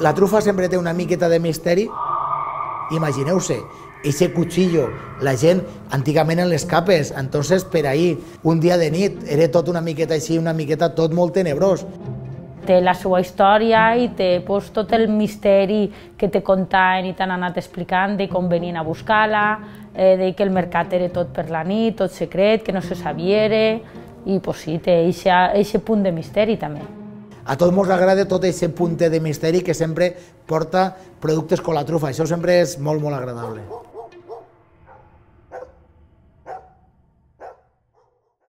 La trufa sempre té una miqueta de misteri. Imagineu-se, ese cuchillo, la gent antigament en les capes, entonces per ahir, un dia de nit, era tot una miqueta així, una miqueta tot molt tenebrós. Té la seva història i té tot el misteri que te contaven i t'han anat explicant de com venien a buscar-la, de que el mercat era tot per la nit, tot secret, que no se sabia, i sí, té aquest punt de misteri també. A tots ens agrada tot aquest punt de misteri que sempre porta productes com la trufa, això sempre és molt, molt agradable.